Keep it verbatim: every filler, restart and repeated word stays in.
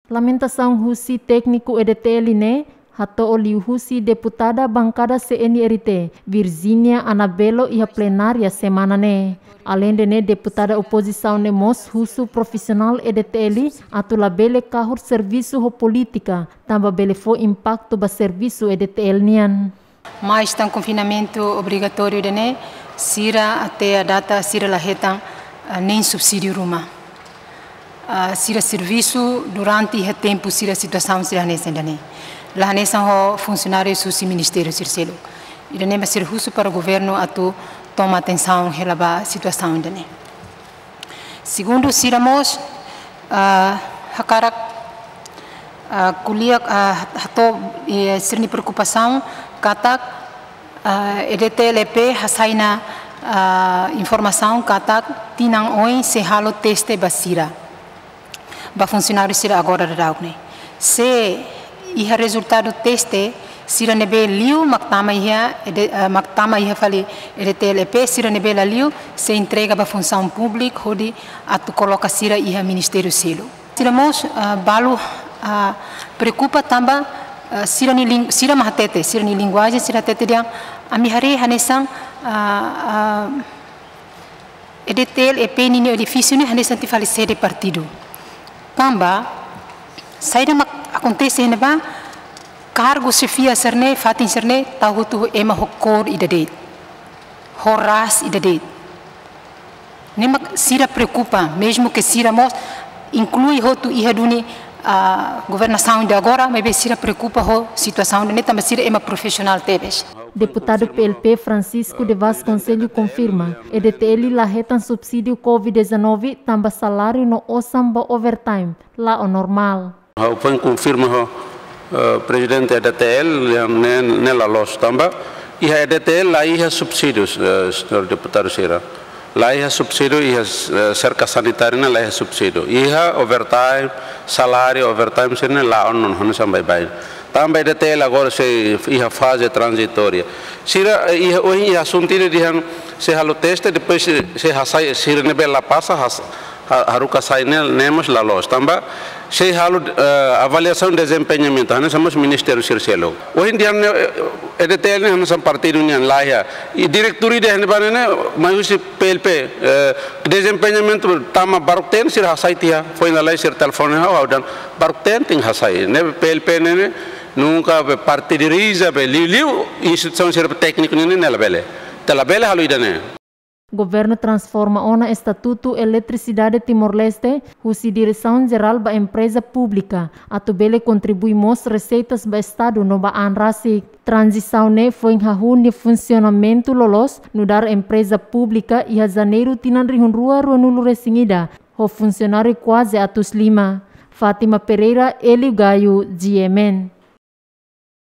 Lamentasaun husi tékniku E D T L ne'e hato'o liuhusi deputada bankada C N R T, Virginia Anabelo, iha plenária semana ne'e. Aleinde ne'e, deputada opozisaun ne'e mós husu profisionál E D T L atu labele kahur servisu ho polítika, tanba bele fó impaktu ba servisu E D T L nian. Mas tan konfinamentu obrigatóriu ida-ne'e, sira até à data sira la hetan, ah, nein subsídiu ruma. Ah, sira servisu durante iha tempu sira situasaun sira hanesan ida-ne'e. La hanesan ho funsionáriu husi ministériu sira seluk. Ida-ne'e mak sira husu para governu atu toma atensaun hela ba situasaun ida-ne'e. Segundu, sira mós, ah, hakarak, ah, ko'alia, ah, hato'o, eh, sira-nia preokupasaun katak, ah, E D T L E P hasai ona, ah, informasaun katak tinan oin sei halo teste ba sira, ba funsionáriu sira agora daudaun ne'e. Se iha rezultadu teste, sira ne'ebé liu mak tama iha, E D, ah, mak tama iha fali E D T L E P, sira ne'ebé la liu sei entrega ba Funsaun Públika hodi atu koloka sira iha ministériu seluk. Sira mós, ah, balu, ah, preokupa tanba, ah, sira-nia lin-, sira mak hatete, sira-nia linguajen, sira hatete dehan, ami haree hanesan, ah, ah, E D T L E P ninia edifísiu ne'e hanesan ita fali sede partidu. Tanba, saida mak akontese iha ne'ebá, kargu xefia sira-ne'e, fatin sira-ne'e, tau hotu ho ema ho kór ida de'it, ho rasa ida de'it. Ne'e mak sira preokupa, mezmu ke sira mós inklui hotu iha duni, ah, governasaun de agora, maibé sira preokupa ho situasaun ne'e tanba sira ema profisionál tebes. Deputadu P L P Francisco de Vasconcelos konfirma, E D T L la hetan subsídiu covid dezanove tanba saláriu no osan ba overtime la'o normál. Ha'u foin konfirma ho, eh, prezidente E D T L, ne'e, ne'e la loos tanba iha E D T L la iha subsídius, eh, señór deputadu sira. La iha subsídiu, iha, eh, serka sanitária ne'e la iha subsídiu. Iha overtime, saláriu overtime sira-ne'e la'o ona, hanesan baibain. Tanba E D T L agora sei iha faze tranzitória. Sira, eh, iha, ohin iha asuntu ida dehan sei halo teste, depois sei, sei hasai, sira ne'ebé la pasa, has-, ha-, haruka sai ne'e, ne'e mós la loos. Tanba sei halo, eh, avaliasaun dezempeñamentu, hanesan mós ministériu sira seluk. Ohin dehan ne'e, eh, E D T L ne'e hanesan partidu nian, la iha. I diretór ida ne'ebá ne'e, mai husi P L P, eh, dezempeñamentu tama baruk-teen, sira hasai tiha, foin lalais sira telefone ha'u, ha'u dehan baruk-teen tenke hasai. Ne'e P L P ne'e, ne'e nunka be partidariza, be liuliu instituisaun sira tékniku ne'e, ne'e labele. Ita labele halo ida-ne'e. Governu transforma ona Estatutu Eletrisidade Timor-Leste, husi diresaun jerál ba empreza públika, atu bele kontribui mós reseitas ba Estadu no ba an rasik. Tranzisaun ne'e foin hahú nia funsionamentu loloos nu'udar empreza públika iha Janeiru tinan rihun rua ruanulu-resin-ida, ho funsionáriu kuaze atus lima. Fátima Pereira, Hélio Gaio, G M N.